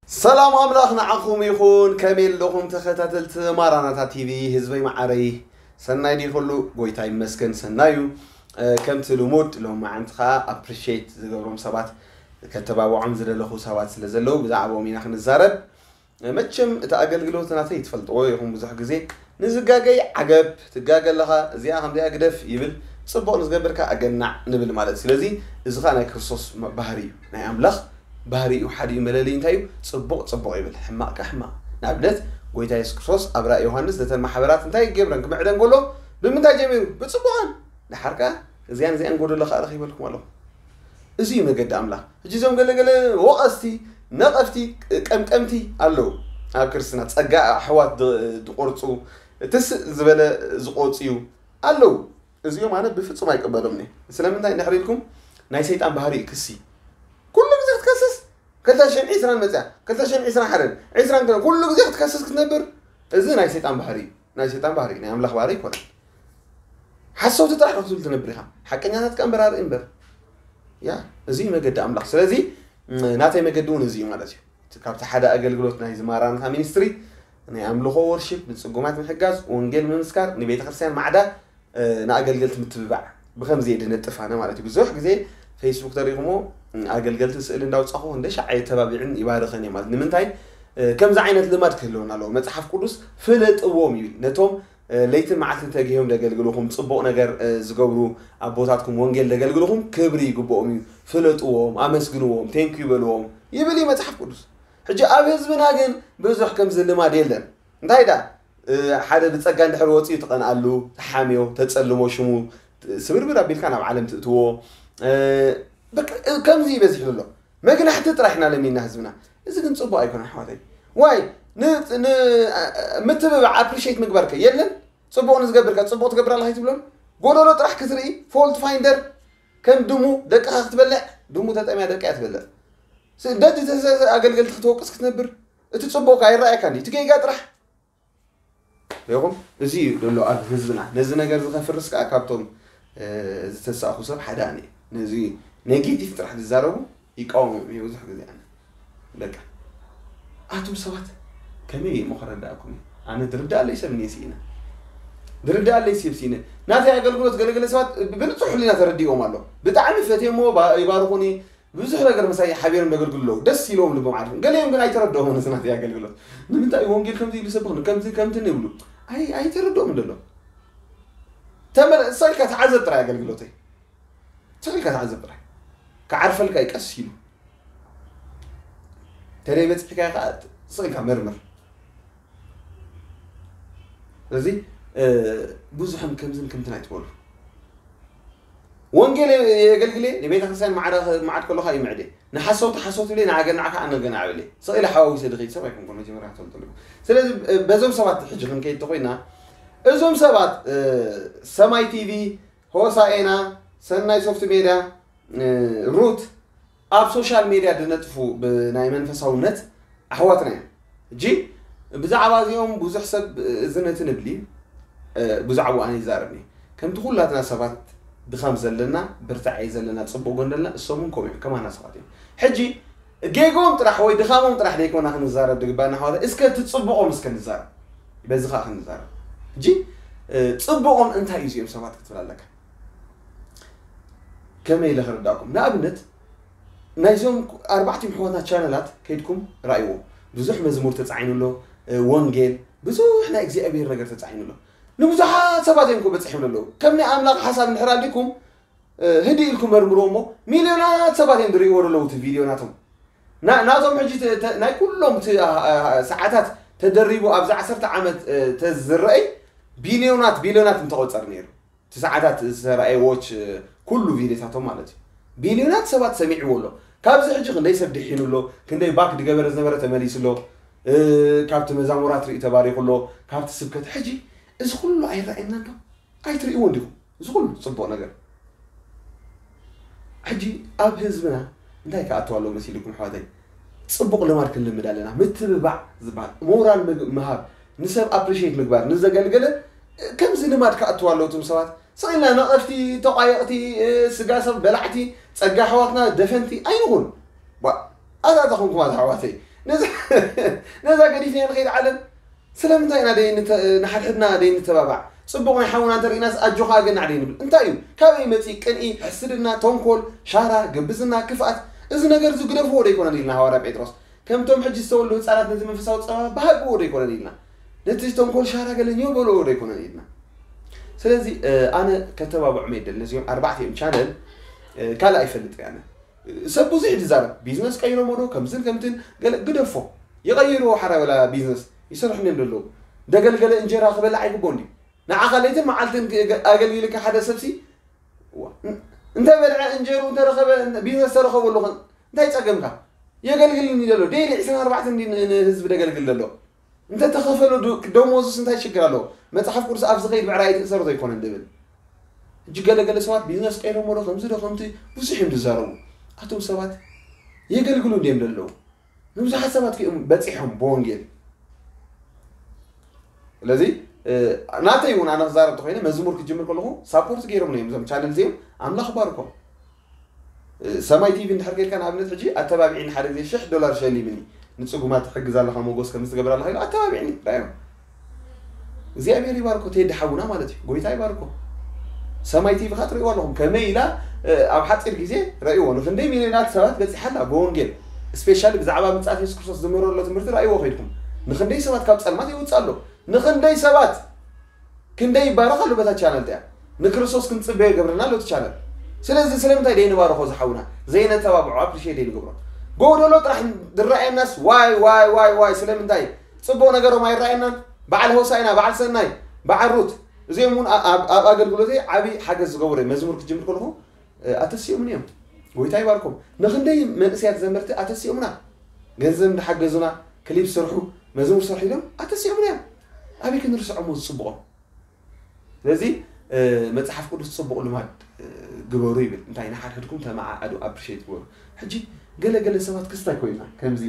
ሰላም ኣምላኽ ንዓኹም ይኹን። ከመይ ኣለኹም ተኸታተልቲ ማራናታ ቲቪ? ህዝበይ መዓረይ፣ ሰናይ ድዩ ኩሉ? ጎይታ ይመስገን ሰናዩ። እ፣ ከምቲ ልሙድ ሎም መዓንቲ ኸዓ ኣፕሪሼት ዝገብሮም ሰባት፣ ከተባብዖም ዝደለኹ ሰባት ስለ ዘለዉ ብዛዕባኦም ኢና ክንዛረብ። እ፣ መቸም እቲ ኣገልግሎት ናተይ ትፈልጥዎ ኢኹም። ብዙሕ ግዜ ንዝጋገይ ዓገብ፣ ትጋገ ኣለኻ፣ እዚኣ ከምዚኣ ግደፍ ይብል፣ ጽቡቕ ንዝገብር ከኣ ኣገናዕ ንብል ማለት እዩ። ስለዚ እዚ ኸኣ ናይ ክርስቶስ መ-፣ ባህሪ እዩ። ናይ ኣምላኽ ባህሪ እዩ። ሓደ እዩ መለለዩ እንታይ እዩ? ጽቡቕ ጽቡቕ ይብል፣ ሕማቕ ከኣ ሕማቕ። ንኣብነት ጎይታ የሱስ ክርስቶስ ኣብ ራእይ ዮሃንስ ነተን ማሕበራት እንታይ ይገብረን ክምዕደን ከሎ ብምንታይ ጀሚሩ? ብጽቡቓን። ደሓር ከኣ እዚኣን እዚኣን ጎደሎ ከኣ ረኺበልኩም ኣለኹ። እዚ እዩ መገዲ ኣምላኽ። ሕጂ እዞም ገለገለ ወቐስቲ፣ ነቐፍቲ፣ ቀምቀምቲ ኣለዉ። ኣብ ክርስትና ጸጋ ኣሕዋት ድ-፣ ድቆርጹ፣ ትስእ ዝበለ ዝቆጽዩ ኣለዉ። እዚኦም ኣነ ብፍጹም ኣይቅበሎምን እየ። ስለምንታይ እንድሕር ኢልኩም፣ ናይ ሰይጣን ባህሪ እዩ ክሲ። ኩሉ ግዜ ክትከስስ፣ ክልተ ሽሕን ዕስራን መጽያ፣ ክልተ ሽሕን ዕስራን ሓደን፣ ዕስራን ክልተን፣ ኩሉ ግዜ ክትከስስ ክትነብር፣ እዚ ናይ ሰይጣን ባህሪ እዩ። ናይ ሰይጣን ባህሪ እዩ፣ ናይ ኣምላኽ ባህሪ ኣይኮነን። ሓሰውቲ ጥራሕ ክትብል ትነብር ኢኻ። ሓቀኛታት ከኣ እምበር ኣርኢ እምበር። ያ፣ እዚ እዩ መገዲ ኣምላኽ። ስለዚ፣ ም፣ ናተይ መገዲ እውን እዚ እዩ ማለት እዩ። እቲ ካብቲ ሓደ ኣገልግሎት ናይ ዝማራንታ ሚኒስትሪ፣ ናይ ኣምልኾ ወርሺፕ፣ ንጽጉማት ምሕጋዝ፣ ወንጌል ምምስካር፣ ንቤተ ክርስቲያን ማዕዳ፣ እ፣ ንኣገልገልቲ ምትብባዕ፣ ብኸምዚ እየ ድነጥፍ ኣነ ማለት እዩ። ብዙሕ ግዜ ፌስቡክ ተሪኹሞ፣ እ፣ ኣገልገልቲ ስእሊ እንዳውጻኹ እንደ ሻዕ የተባቢዕን ይባርኸን እየ ማለት። ንምንታይ? እ፣ ከምዚ ዓይነት ልማድ ክህልወና ኣለዎ። መጽሓፍ ቅዱስ ፍለጥዎም ይብል። ነቶም፣ እ፣ ለይትን መዓልትን ተጊሆም ደገልግልኹም፣ ጽቡቕ ነገር፣ እ፣ ዝገብሩ ኣቦታትኩም፣ ወንጌል ደገልግልኹም ክብሪ ይግብኦም እዩ። ፍለጥዎም፣ ኣመስግንዎም፣ ቴንክ ዩ በልዎም ይብል እዩ መጽሓፍ ቅዱስ። ሕጂ ኣብ ህዝብና ግን ብዙሕ ከምዚ ልማድ የለን። እንታይ ደኣ፣ እ፣ ሓደ ብጸጋ እንድሕር ወጺኡ ትቐንኣሉ፣ ትሓምዮ፣ ተጸልሞ፣ ሽሙ ስብርብር ኣቢልካ ናብ ዓለም ትእትዎ። እ፣ በቃ፣ እ፣ ከምዚ ይበዝሕ ዘሎ። መግናሕቲ ጥራሕ ኢና ለሚና ህዝብና። እዚ ግን ጽቡቕ ኣይኮነን ኣሕዋተይ። ዋይ፣ ን-፣ ን-፣ እ፣ ምትብባዕ፣ ኣፕሪሼት ምግባር ከ የለን? ጽቡቕ ንዝገብር ከ ጽቡቕ ትገብር ኣለኻ ኣይትብሎን? ጎደሎ ጥራሕ ክትርኢ፣ ፎልት ፋይንደር፣ ከም ድሙ ደቅኻ ክትበልዕ፣ ድሙ ተጠምያ ደቃ እያ ትበልዕ። ስ-፣ ደጅ ተሰ-፣ ኣገልገልቲ ክትወቅስ ክትነብር፣ እቲ ጽቡቕ ከ ኣይረኣየካን ድዩ? እቲ ጌጋ ጥራሕ። ይኹም፣ እዚ እዩ ዘሎ ኣብ ህዝብና። ነዚ ነገር እዚ ከፍርስ ከኣ ካብቶም፣ እ፣ ዝተሳእኹ ሰብ ሓደ ኣነ እየ። ነዚ ኔጌቲቭ ጥራሕ ዝዛረቡ ይቃወሞም እየ ብዙሕ ግዜ ኣነ። በቃ፣ ኣቱም ሰባት ከመይ እየ እሞ ከረድኣኩም እየ? ኣነ ዝርድኣለይ ሰብ እኒኤ ስኢነ። ዝርድኣለይ ሰብ ስኢነ። ናተይ ኣገልግሎት ገለገለ ሰባት ብንጹህ ሕሊና ተረዲኦም ኣሎ። ብጣዕሚ ፈትየሞ ባ-፣ ይባርኹኒ። ብዙሕ ነገር ምሳይ ሓቢሮም ዘገልግሉ ኣለዉ። ደስ ኢሎም ልቦም ዓሪፎም። ገሊኦም ግን ኣይተረድኦምን እቲ ናተይ ኣገልግሎት። ንምንታይ እዩ ወንጌል ከምዚ ኢሉ ይሰብኽ? ከምዚ ከምቲ ይብሉ። ኣይ-፣ ኣይተረድኦምን ዘሎ። ተመለ-፣ ስቕ ኢልካ ተዓዘብ ጥራይ ኣገልግሎተይ። ስቕ ኢልካ ተዓዘብ ጥራይ። ክዓርፈልካ እዩ ቀስ ኢሉ። ተለይ በጺሕካዮ ከኣ ስቕ ኢልካ መርምር። ስለዚ፣ እ፣ ብዙሕን ከምዝን ከምትን ኣይትበሉ። ወንጌል የገልግል እየ፣ ንቤተ ክርስቲያን ማዕረ-፣ ማዕድ ከለኻ ይምዕድ እየ። ንሓሰውቲ ሓሰውቲ ኢለ፣ ንኣገናዕ ከኣ ኣነገናዕ እብል እየ። ስቕ ኢለ ሓዋዊሰ ድኸይድ ሰብ ኣይኮንኩን፣ መጀመርያ ክትፈልጡ ኣለኩም። ስለዚ፣ እ፣ በዞም ሰባት ሕጂ ክንከይድ ተኾይና፣ እዞም ሰባት፣ እ፣ ሰማይ ቲቪ፣ ሆሳኤና፣ ሰናይ ሶፍት ሜድያ፣ እ፣ ሩት፣ ኣብ ሶሻል ሜድያ ድነጥፉ ብናይ መንፈሳውነት ኣሕዋትና እዮም። ሕጂ ብዛዕባ እዚኦም ብዙሕ ሰብ እዚ ነቲ ንብሊ፣ እ፣ ብዛዕባኡ ኣነ ይዛረብ እየ። ከምቲ ኩላትና ሰባት ድኻም ዘለና፣ ብርታዐ ዘለና፣ ጽቡቕ ጎን ዘለና፣ እሶም እውን ከምኡ እዮም፣ ከማና ሰባት እዮም። ሕጂ ጌግኦም ጥራሕ ወይ ድኻሞም ጥራሕ ደይኮና ክንዛረብ ድግባና ኣሕዋት፣ እስከ እቲ ጽቡቖም እስከ ንዛረብ። በዚ ኸኣ ክንዛረብ። ሕጂ፣ እ፣ ጽቡቖም እንታይ እዩ እዚኦም ሰባት ክትብል ኣለካ? ከመይ ኢለ ክርዳእኩም? ንኣብነት፣ ናይዞም ኣርባዕቲኦም ኣሕዋትና ቻነላት ከይድኩም ረኣይዎ። ብዙሕ መዝሙር ተጻዒኑ ኣሎ፣ እ፣ ወንጌል፣ ብዙሕ ናይ እግዚኣብሔር ነገር ተጻዒኑ ኣሎ። ንብዙሓት ሰባት እዮም እኮ በጺሖም ዘለዉ። ከም ናይ ኣምላኽ ሓሳብ እንድሕር ኣሊኩም፣ እ፣ ህድእ ኢልኩም መርምርዎ እሞ፣ ሚልዮናት ሰባት እዮም ዝርእይዎ ዘለዉ እቲ ቪድዮ ናቶም። ና-፣ ናቶም ሕጂ ተ-፣ ተ-፣ ናይ ኩሎም እቲ፣ ኣ-፣ ኣ-፣ ሰዓታት ተደሪቡ ኣብዚ ዓሰርተ ዓመት፣ እ፣ ተዝረኣይ ቢልዮናት፣ ቢልዮናት ምተቖጸረ ነይሩ። እቲ ሰዓታት ዝተራእየ ዎች፣ እ፣ ኩሉ ቪድዮታቶም ማለት እዩ። ቢልዮናት ሰባት ሰሚዕዎ ኣሎ። ካብዚ ሕጂ ክንደይ ሰብ ድሒኑ ኣሎ፣ ክንደይ ባክ ድገበረ ዝነበረ ተመሊሱ ኣሎ፣ እ፣ ካብቲ መዛሙራት ርእዩ ተባሪኹ ኣሎ፣ ካብቲ ስብከት። ሕጂ እዚ ኩሉ ኣይረኣየናን ዶ? ኣይትርእይዎን ዲኹም? እዚ ኩሉ ጽቡቕ ነገር። ሕጂ ኣብ ህዝብና እንታይ ክኣትው ኣለዎ መሲልኩም ኣሕዋተይ? ጽቡቕ ልማድ ክንልምድ ኣለና። ምትብባዕ ዝበሃል፣ ሞራል ምግ-፣ ምሃብ፣ ንሰብ ኣፕሪሼት ምግባር፣ ንዘገልገለ ከምዚ ልማድ ክኣትው ኣለዎ። እቶም ሰባት ስቕ ኢልና ነቐፍቲ፣ ተቋየቕቲ፣ ስጋ ሰብ በላዕቲ፣ ጸጋ ኣሕዋትና ደፈንቲ ኣይንኹን። ዋ፣ ኣታ፣ ኣታ ኾንኩም ኣታ ኣሕዋተይ፣ ነዛ ገዲፍና ንኸይድ ዓለም ስለምንታይ ኢና ደይ ንሓድሕድና ደይ ንተባባዕ? ፅቡቕ ናይ ሓውና እንተርኢናስ ኣጆኻ ኣገናዕ ደይ ንብል? እንታይ እዩ? ካበይ መፂእ ቅንኢ፣ ሕስድና፣ ተንኮል፣ ሻራ፣ ግብዝና፣ ክፍኣት? እዚ ነገር እዚ ግደፍዎ ዶ ኣይኮነን ኢልና ሃዋርያ ጴጥሮስ? ከምቶም ሕጂ ዝተወልዱ ህፃናት ነዚ መንፈሳዊ ፀባ ባሃግዎ ዶ ኣይኮነን ኢልና? ነቲ ተንኮል ሻራ ገለ ኘው በልዎ ዶ ኣይኮነን ኢልና? ስለዚ ኣነ ከተባብዖም የደል ነዚኦም ኣርባዕቲኦም ቻነል ካልእ ኣይፈልጥ ኣነ። ሰብ ብዙሕ እዩ ዝዛረብ፣ ቢዝነስ ቀይሮሞ ዶ ከምዝን ከምትን ገለ ግደፎ። ይቐይርዎ ሓራይ ወላ ቢዝነስ ይሰርሑ እንዲዮም ዘለዉ። ደገልገለ እንጀራ ክበልዕ ኣይግቦን ድዩ? ንዓኻ ለይትን መዓልትን ኣገልጊልካ ሓደ ሰብሲ እንተ በልዐ እንጀሩ እንተረኸበ ቢዝነስ ተረኸበሉ ኸ እንታይ ጸገምካ? የገልግልኒ ዘሎ ዴይሊ ዕስራን ኣርባዕተን እንዲ ንህዝቢ ደገልግል ዘሎ እንተ ተኸፈሎ ደሞዙስ እንታይ ሽግር ኣለዎ? መጽሓፍ ቅዱስ ኣብ ዝኸይድ ብዕራይ ኣይትእሰሩ ዘይኮነን ድብል። ሕጂ ገለገለ ሰባት ቢዝነስ ቀይሮሞ ዶ ከምዚ ዶ ከምቲ ብዙሕ እዮም ዝዛረቡ። ኣቶም ሰባት የገልግሉ እንዲዮም ዘለዉ። ንብዙሓት ሰባት እዮም በጺሖም ብወንጌል። ስለዚ ናተይ እውን ኣነ ክዛረብ ተኮይነ መዝሙር ክጅምር ከለኹ ሳፖርት ገይሮም እዮም እዞም ቻነል እዚኦም ኣምላኽ ባርኮም። ሰማይ ቲቪ እንድሕር ከይድካ ንኣብነት ሕጂ ኣተባቢዕኒ ሓደ ግዜ ሽሕ ዶላር ሸሊምኒ ንፅጉማት ትሕግዝ ኣለኻ ሞጎስ ከም ዝትገብር ኣለኻ ኢሉ ኣተባቢዕኒ ራዮም። እግዚኣብሔር ይባርኮ ቴዲ ሓውና ማለት እዩ። ጎይታ ይባርኮ። ሰማይ ቲቪ ካ ትርእይዋ ኣለኹም ከመይ ኢላ ኣብ ሓፂር ግዜ ረእይዎ ንክንደይ ሚሊዮናት ሰባት በፂሓ ኣላ ብወንጌል ስፔሻሊ ብዛዕባ ምፅኣት የሱስ ክርስቶስ ዝምህሮ ዘሎ ትምህርቲ ረእይዎ ከይድኩም ንክንደይ ሰባት ካብ ፀልማት የውፅእ ኣሎ ንክንደይ ሰባት ክንደይ ይባረኽ ኣሎ በታ ቻነል እያ ንክርስቶስ ክንፅበዮ ይገብረና ኣሎ እቲ ቻነል። ስለዚ ስለምንታይ ደይ ንባረኾ ዝሓውና ዘይነተባብዖ ኣፕሪሼት ደይ ንገብሮ ጎደሎ ጥራሕ ዝረኣየናስ ዋይ ዋይ ዋይ ዋይ ስለምንታይ ፅቡቕ ነገሮም ኣይረኣየናን? በዓል ሆሳይና በዓል ሰናይ በዓል ሩት እዚኦም እውን ኣብ ኣገልግሎተይ ዓብዪ ሓገዝ ዝገበሩ እዮም። መዝሙር ክጅምር ከለኹ ኣተሲኦምን እዮም። ጎይታ ይባርኮም። ንክንደይ መንእሰያት ዘመርቲ ኣተሲኦምና ገንዘብ እንዳሓገዙና ክሊፕ ስርሑ መዝሙር ስርሑ ኢሎም ኣተሲኦምና እዮም። ኣበይ ክንርስዖሞ ዝፅብቖም? ስለዚ መፅሓፍ ቅዱስ ፅቡቕ ልማድ ግበሩ ይብል እንታይ ንሓድሕድኩም ተመዓዓዱ ኣፕሪሼት ግበሩ። ሕጂ ገለገለ ሰባት ክስታይ ኮይና ከምዚ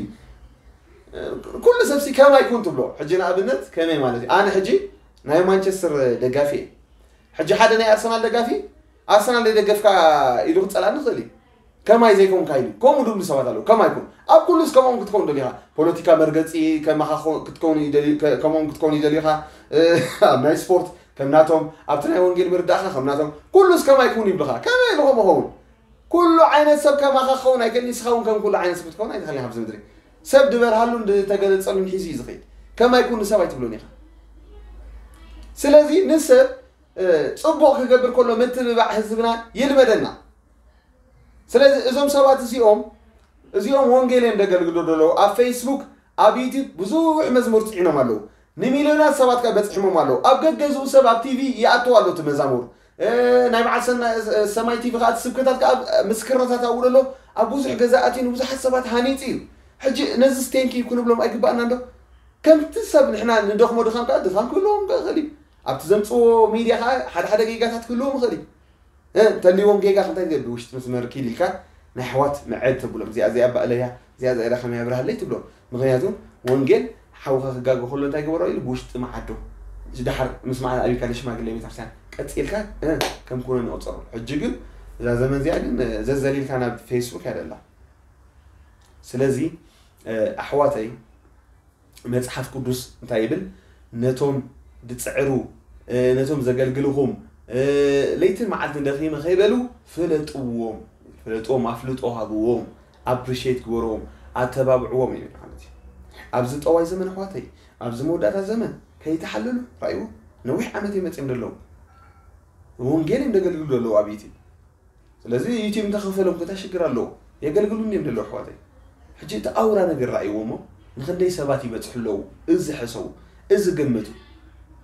ኩሉ ሰብሲ ከማይ ኩን ትብሎ ሕጂ ንኣብነት ከመይ ማለት እዩ ኣነ ሕጂ ናይ ማንቸስተር ደጋፊ እየ ሕጂ ሓደ ናይ ኣርሰናል ደጋፊ ኣርሰናል ደገፍካ ኢሉ ክፀላኒ ይኽእል እዩ ከማይ ዘይኮንካ ኢሉ ከምኡ ድብሉ ሰባት ኣለዉ ከማይ ኩን ኣብ ኩሉስ ከምኦም ክትከውን ደሊኻ ፖለቲካ መርገፂ ከምኦም ክትከውን ይደልኻ ኣብ ናይ ስፖርት ከምናቶም ኣብቲ ናይ ወንጌል ምርዳእኻ ከምናቶም ኩሉስ ከማይ ኩን ይብልኻ ከመይ ኢሉ ከምኡ ኸውን ኩሉ ዓይነት ሰብ ከማኻ ክኸውን ኣይክእል ንስኻ እውን ከም ኩሉ ዓይነት ሰብ ክትከውን ኣይትኽእል ኢኻ ኣብዚ ምድሪ ሰብ ድበርሃሉን ዝተገለፀሉን ሒዙ እዩ ዝኸይድ ከማይ ኩን ንሰብ ኣይትብሎን ኢኻ ስለዚ ንሰብ ፅቡቕ ክገብር ከሎ ምትብባዕ ህዝብና ይልመደና ስለዚ እዞም ሰባት እዚኦም እዚኦም ወንጌል እዮም ደገልግሉ ዘለዉ ኣብ ፌስቡክ ኣብ ዩቲብ ብዙሕ መዝሙር ፅዒኖም ኣለዉ ንሚልዮናት ሰባት ከ በፅሕሞም ኣለዉ ኣብ ገገዝኡ ሰብ ኣብ ቲቪ ይኣተው ኣሎ እቲ መዛሙር ናይ በዓል ሰማይ ቲቪ ከዓ ስብከታት ከዓ ምስክርነታት ኣብኡ ዘሎ ኣብ ብዙሕ ገዛ ኣትዩ ንብዙሓት ሰባት ሃኒፂ እዩ ሕጂ ነዚ ስቴንኪ ክንብሎም ኣይግባእና እንዶ ከምቲ ሰብ ንሕና ንደኽሞ ድኻም ከዓ ድኻም ክህልዎም ክእል እዩ ኣብቲ ዘምፅዎ ሚድያ ከዓ ሓደ ሓደ ጌጋታት ክህልዎም ይኽእል እዩ እንተልዎም ጌጋ ክንታይ ትገብር ውሽጢ መስመር ኪድ ኢልካ ናይ ኣሕዋት መዐድ ተብሎም እዚኣ እዚኣ ባእለያ እዚኣ እዚኣ ከመይ ኣብርሃለይ ትብሎም ምክንያቱ ወንጌል ሓውካ ክጋገ ከሎ እንታይ ገበሮ ኢሉ ብውሽጢ መዓዶ ድሓር ምስ መዓል ኣብካ ንሽማግለ ቤተክርስትያን ቀፂልካ ከም ኩነ ንቆፀሩ ሕጂ ግን እዛ ዘመን እዚኣ ግን ዘዘሊልካ ናብ ፌስቡክ ያደላ ስለዚ ኣሕዋተይ መፅሓፍ ቅዱስ እንታይ ይብል ነቶም ድፅዕሩ ነቶም ዘገልግልኹም ለይትን መዓልትን ደኺመ ከይበሉ ፍለጥዎም ፍለጥዎም ኣፍልጦ ሃብዎም ኣፕሪሼት ግበርዎም ኣተባብዕዎም ይብል ማለት እዩ ኣብዚ ጠዋይ ዘመን ኣሕዋተይ ኣብዚ መወዳእታ ዘመን ከይተሓለሉ ራእይዎ ነዊሕ ዓመት እዮም መፅኦም ዘለዉ ወንጌል እዮም ደገልግሉ ዘለዉ ኣብ ዩቲብ ስለዚ ዩቲብ እንተኸፈሎም እንታይ ሽግር ኣለዎ የገልግሉ እንዲም ደለዉ ኣሕዋተይ ሕጂ እቲ ኣውራ ነገር ረኣይዎ እሞ ንክንደይ ሰባት ይበፅሑ ኣለዉ እዚ ሕሰቡ እዚ ገምቱ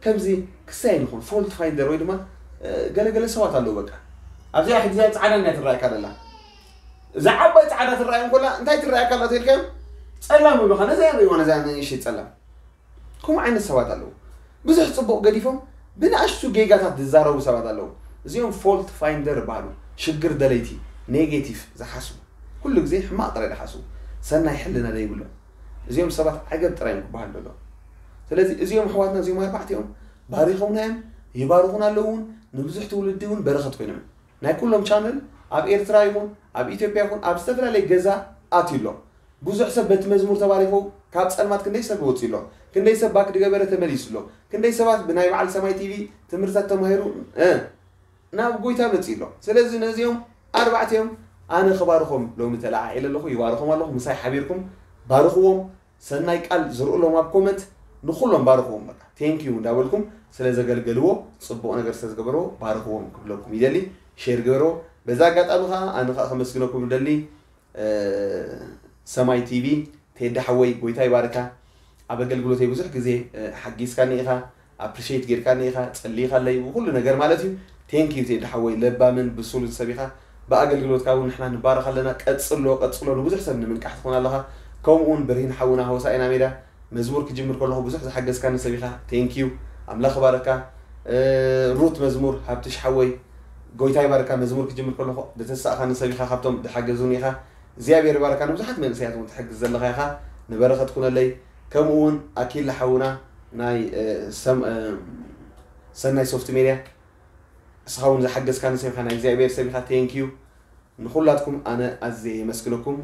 ከምዚ ክሳይ ንኹን ፎልት ፋይንደር ወይ ድማ ገለገለ ሰባት ኣለዉ በቃ ኣብዚኣ ሕጂ እዚኣ ፃዕዳ እንዲያ ትረኣየካ ደላ እዛ ዓባይ ፃዕዳ ትረኣዮም ኮላ እንታይ ትረኣየካ ኣላ ተልካዮም ፀላም ይብሉኻ ነዛ ይርእይዋ ነዛ ንእሽተይ ፀላም ከምኡ ዓይነት ሰባት ኣለዉ ብዙሕ ፅቡቕ ገዲፎም ብንኣሽቱ ጌጋታት ዝዛረቡ ሰባት ኣለዉ እዚኦም ፎልት ፋይንደር ይበሃሉ ሽግር ደለይቲ ኔጌቲቭ ዝሓስቡ ኩሉ ግዜ ሕማቕ ጥራይ ዝሓስቡ ሰናይ ሕልና ዘይብሎም እዚኦም ሰባት ዓገብ ጥራይ እዮም ክበሃል ዘሎ ስለዚ እዚኦም ኣሕዋትና እዚኦም ኣርባዕቲኦም ባሪኾምና እዮም ይባርኹና ኣለዉ እውን ንብዙሕ ትውልዲ እውን በረኸት ኮይኖም ናይ ኩሎም ቻነል ኣብ ኤርትራ ይኹን ኣብ ኢትዮጵያ ይኹን ኣብ ዝተፈላለየ ገዛ ኣትዩ ኣሎ ብዙሕ ሰብ በቲ መዝሙር ተባሪኹ ካብ ጸልማት ክንደይ ሰብ ወጺኡ ኣሎ፣ ክንደይ ሰብ ባክ ድገበረ ተመሊሱ ኣሎ፣ ክንደይ ሰባት ብናይ በዓል ሰማይ ቲቪ ትምህርታት ተማሂሩ እ፣ ናብ ጎይታ መጺኡ ኣሎ። ስለዚ ነዚኦም ኣርባዕቲኦም ኣነ ክባርኾም ሎሚ ተለዓዒለ ኣለኹ፣ ይባርኾም ኣለኹ። ምሳይ ሓቢርኩም ባርኽዎም። ሰናይ ቃል ዝርእሎም ኣብ ኮመንት ንኹሎም ባርኽዎም። በቃ ቴንክ ዩ እንዳበልኩም ስለ ዘገልገልዎ፣ ጽቡቕ ነገር ስለ ዝገበርዎ ባርኽዎም ክብለኩም ይደሊ። ሼር ግበርዎ። በዛ ኣጋጣሚ ኸዓ ኣነ ኸዓ ከመስግነኩም ይደሊ። ሰማይ ቲቪ፣ ቴዲ ሓወይ ጎይታ ይባርካ። ኣብ ኣገልግሎተይ ብዙሕ ግዜ ሓጊዝካኒ ኢኻ፣ ኣፕሪሼት ጌርካኒ ኢኻ፣ ጸሊኻለይ ብኩሉ ነገር ማለት እዩ። ቴንክ ዩ ቴዲ ሓወይ፣ ለባምን ብሱልን ሰብ ኢኻ። ብኣገልግሎትካ እውን ንሕና ንባረኽ ኣለና። ቀጽሎ ቀጽሎ፣ ንብዙሕ ሰብ ንምንቃሕ ትኾን ኣለኻ። ከምኡ እውን ብርሂን ሓውና ሆሳኢና ሜዳ መዝሙር ክጅምር ከለኹ ብዙሕ ዝሓገዝካኒ ሰብ ኢኻ። ቴንክ ዩ። ኣምላኽ ይባርካ። ሩት መዝሙር፣ ሃብትሽ ሓወይ ጎይታ ይባርካ። መዝሙር ክጅምር ከለኹ ዝተሳእኻኒ ሰብ ኢኻ፣ ካብቶም ዝሓገዙኒ ኢኻ። እግዚኣብሔር ይባርካ። ንብዙሓት መንእሰያት እውን ትሕግዝ ዘለኻ ኢኻ። ንበረኸት ኩነለይ። ከምኡ እውን ኣኪል ሓውና ናይ ሰናይ ሶፍት ሜድያ፣ እስኻ እውን ዝሓገዝካኒ ሰብ ኢኻ፣ ናይ እግዚኣብሔር ሰብ ኢኻ። ቴንክ ዩ። ንኹላትኩም ኣነ ኣዝየ የመስግነኩም።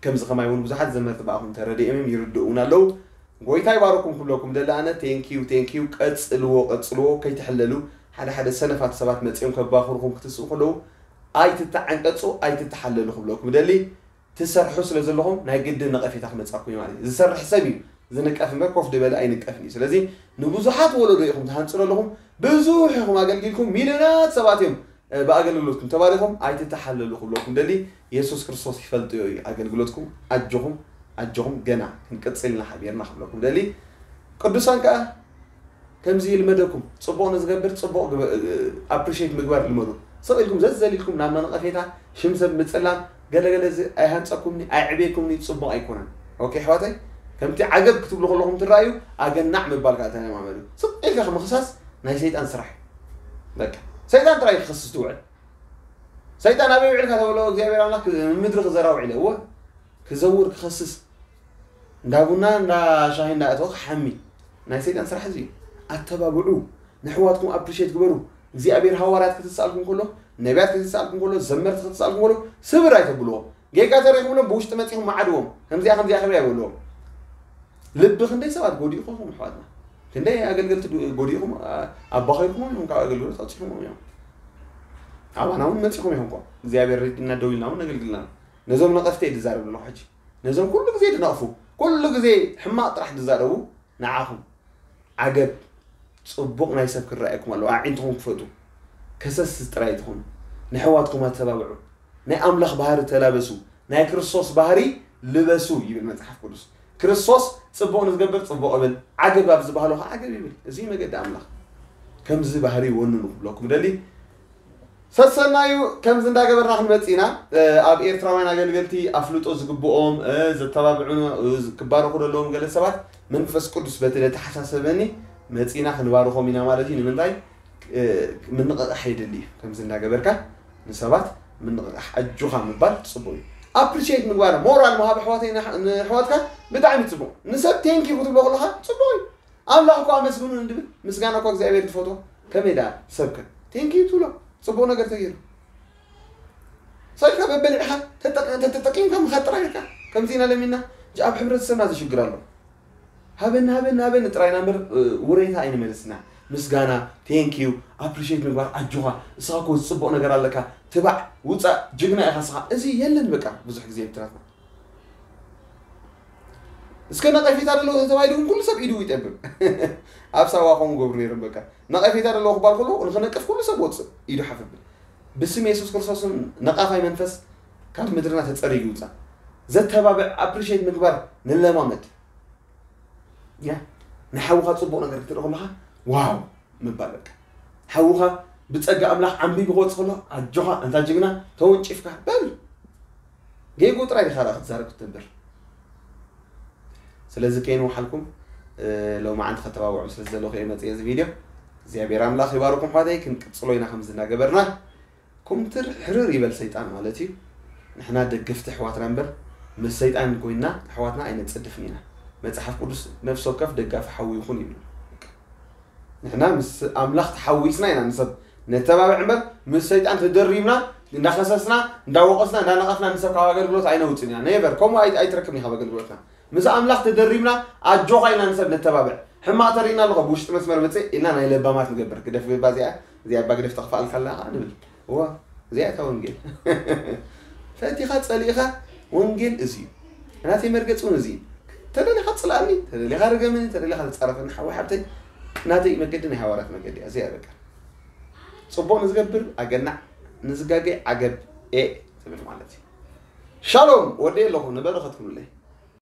ከምዚ ከማይ እውን ብዙሓት ዘመርቲ ብኣኹም ተረዲኦም እዮም፣ ይርድኡ እውን ኣለዉ። ጎይታ ይባረኩም ክብለኩም ደሊ ኣነ። ቴንክ ዩ ቴንክ ዩ። ቀጽልዎ ቀጽልዎ፣ ከይትሕለሉ። ሓደ ሓደ ሰነፋት ሰባት መጺኦም ከባኽሩኹም ክትስኡ ከለዉ ኣይትተዓንቀጹ፣ ኣይትተሓለሉ ክብለኩም ደሊ። ትሰርሑ ስለ ዘለኹም ናይ ግድን ነቐፌታ ክመጻኩም እዩ ማለት እዩ። ዝሰርሕ ሰብ እዩ ዝንቀፍ እምበር ኮፍ ዝበለ ኣይንቀፍን እዩ። ስለዚ ንብዙሓት ወለዶ ኢኹም ትሃንጹ ዘለኹም፣ ብዙሕ ኢኹም ኣገልጊልኩም፣ ሚልዮናት ሰባት እዮም ብኣገልግሎትኩም ተባሪኾም። ኣይትተሓለሉ ክብለኩም ደሊ። የሱስ ክርስቶስ ይፈልጥዮ እዩ ኣገልግሎትኩም። ኣጆኹም ኣጆኹም፣ ገና ክንቅጽል ኢና ሓቢርና ክብለኩም ደሊ። ቅዱሳን ከኣ ከምዚ ይልመደኩም። ጽቡቕ ንዝገብር ጽቡቕ ኣፕሪሼት ምግባር ልመዱ። ስቕ ኢልኩም ዘዘሊልኩም ናብ ነቐፌታ፣ ሽም ሰብ ምጽላም፣ ገለገለ እዚ ኣይሃንጸኩምኒ፣ ኣይዕቤኩምኒ፣ ጽቡቕ ኣይኮነን። ኦኬ ኣሕዋተይ፣ ከምቲ ዓገብ ክትብሉ ከለኹም ትረኣዩ፣ ኣገናዕ ምባል ከኣ ተለማመዱ። ስቕ ኢልካ ምኽሳስ ናይ ሰይጣን ስራሕ እዩ። በቃ ሰይጣን ጥራይ ክኸስስ ትውዕል። ሰይጣን ኣበይ ውዒልካ ተበሎ እግዚኣብሔር ኣምላኽ ክ- ምድሪ ክዘራ ውዒለ እወ ክዘውር ክኸስስ እንዳ ቡና እንዳ ሻሂ እንዳ እተወ ክሓሚ ናይ ሰይጣን ስራሕ እዚ እዩ። ኣተባብዑ፣ ንሕዋትኩም ኣፕሪሼት ግበሩ። እግዚኣብሔር ሃዋርያት ክትስኣልኩም ከሎ፣ ነቢያት ክትስኣልኩም ከሎ፣ ዘመርቲ ክትስኣልኩም ከሎ ስብር ኣይተብልዎም። ጌጋ ተረኺብሎም ብውሽጢ መፂኹም መዓድዎም። ከምዚኣ ከምዚኣ ክብሪ ኣይበልዎም። ልቢ ክንደይ ሰባት ጎዲእኹም ኣሕዋትና፣ ክንደይ ኣገልገልቲ ዱ- ጎዲእኹም፣ ኣ- ኣባኺርኩሞም እዮም፣ ካብ ኣገልግሎት ኣውፂኹሞም እዮም። ኣባና እውን መፂኹም ኢኹም እኮ እግዚኣብሔር ረዲእና ደው ኢልና እውን ነገልግልና። ነዞም ነቐፍቲ እየ ዝዛረብ ዘለኹ ሕጂ። ነዞም ኩሉ ግዜ ዝነቕፉ፣ ኩሉ ግዜ ሕማቕ ጥራሕ ዝዛረቡ ንዓኹም ዓገብ። ጽቡቕ ናይ ሰብ ክረኣየኩም ኣለዎ። ኣዒንትኹም ክፈቱ። ከሰስ ጥራይ ትኹኑ። ንሕዋትኩም ኣተባብዑ። ናይ ኣምላኽ ባህሪ ተላበሱ። ናይ ክርስቶስ ባህሪ ልበሱ ይብል መጽሓፍ ቅዱስ። ክርስቶስ ጽቡቕ ንዝገብር ጽቡቕ ይብል፣ ዓገብ ኣብ ዝበሃሎ ኸዓ ዓገብ ይብል። እዚ መገዲ ኣምላኽ። ከምዚ ባህሪ ወንኑ ክብለኩም ደሊ። ሰሰናዩ ከምዚ እንዳገበርና ክንመጽእ ኢና። ኣብ ኤርትራውያን ኣገልገልቲ ኣፍልጦ ዝግብኦም ዘተባብዑ ክባረኹ ዘለዎም ገለ ሰባት መንፈስ ቅዱስ በቲ ለተሓሳሰበኒ መጺና ክንባርኾም ኢና ማለት እዩ። ንምንታይ? ምንቕቓሕ የድሊ እዩ። ከምዚ እንዳገበርካ ንሰባት ምንቕቓሕ ኣጆኻ ምባል ጽቡቕ እዩ። ኣፕሪሼት ምግባር ሞራል ምሃብ ኣሕዋተይ ንኣሕዋትካ ብጣዕሚ ጽቡቕ። ንሰብ ቴንኪ ክትብሎ ከለኻ ጽቡቕ እዩ። ኣምላኽ እኮ ኣመስግኑ እንድብል ምስጋና እኮ እግዚኣብሔር ዝፈትዎ። ከመይ ደኣ ሰብከ ቴንኪዩ ትብሎ? ጽቡቕ ነገር ተገይሩ። ሰልካ በበሊዕኻ ተጠቂምካ ምኻድ ጥራይ ኢልካ ከምዚ ኢና ለሚና። ኣብ ሕብረተሰብና ዝሽግር ኣሎ። ሃበኒ ሃበኒ ሃበኒ ጥራይና እምበር ውሬታ ኣይንመልስና። ምስጋና፣ ቴንኪዩ፣ ኣፕሪሼት ምግባር፣ ኣጆኻ፣ እስኻ እኮ ዝጽቡቕ ነገር ኣለካ፣ ትባዕ፣ ውጻእ፣ ጅግና ኢኻ እስኻ። እዚ የለን በቃ ብዙሕ ግዜ ኤርትራትና። እስከ ነቐፌታ ደለዎ ተባሂሉ ግን ኩሉ ሰብ ኢዱ ይጠብብ። ኣብ ሳዋ ከምኡ ገብሩ ነይሮም በቃ። ነቐፌታ ደለዎ ክባል ከሎ ንኽነቅፍ ኩሉ ሰብ ወፅእ ኢዱ ሓፍ ብል። ብስም የሱስ ክርስቶስን ነቓፋይ መንፈስ ካብ ምድርና ተፀሪጉ ይውፃእ። ዘተባብዕ ኣፕሪሼት ምግባር ንለማመድ። ያ ንሓውኻ ፅቡቕ ነገር ክትርኢ ከለኻ ዋው ምባል በቃ። ሓውኻ ብጸጋ ኣምላኽ ዓምቢቡ ክወጽእ ከሎ ኣጆኻ ኣንታ ጅግና ተወንጪፍካ በል። ጌጉ ጥራይ ዲኻ ክትዛረብ ክትነብር። ስለዚ ከይንውሓልኩም ሎማዓንቲ ከተባብዑ ስለ ዘለኹ እየ መጽእ እዚ ቪድዮ። እግዚኣብሔር ኣምላኽ ይባርኩም ኣሕዋተይ። ክንቅጽሎ ኢና ከምዚ እናገበርና። ኩምትር ሕርር ይበል ሰይጣን ማለት እዩ። ንሕና ደገፍቲ ኣሕዋትና እምበር ምስ ሰይጣን ኮይንና ኣሕዋትና ኣይነጽድፍን ኢና። መጽሓፍ ቅዱስ ነፍሲ ወከፍ ደጋፊ ሓው ይኹን ይብል። ንሕና ምስ ኣምላኽ ተሓዊስና ኢና ንሰብ ነተባብዕ እምበር ምስ ሰይጣን ተደሪብና እንዳኸሰስና እንዳወቐስና እንዳነቐፍና ንሰብ ካብ ኣገልግሎት ኣይነውፅን ኢና ነበር ከምኡ ኣይትረክብኒ ካብ ኣገልግሎትና። ምስ ኣምላኽ ተደሪብና ኣጆኻ ኢና ንሰብ ነተባብዕ። ሕማቕ ተርእና ኣለኹ ብውሽጢ መስመር መፅእ ኢልና ናይ ለባማት ንገብር። ግደፍ ገባ እዚኣ እዚኣ እባ ግደፍ ተኽፋልካ ኣለኻ ንብል። እዋ እዚኣ እታ ወንጌል ፈቲኻ ጸሊእኻ ወንጌል እዚ እዩ። ናተይ መርገጽ እውን እዚ እዩ። ተደሊኻ ጽላእኒ፣ ተደሊኻ ርገምኒ፣ ተደሊኻ ተጻረፈኒ ሓወይ ሓብተይ። ናተይ መገዲ ናይ ሃዋርያት መገዲ እያ። እዚኣ በቃ ጽቡቕ ንዝገብር ኣገናዕ፣ ንዝጋገይ ዓገብ ኤ ትብል ማለት እዩ። ሻሎም ወደይ ኣለኹ ንበረኸት ኩኑለይ።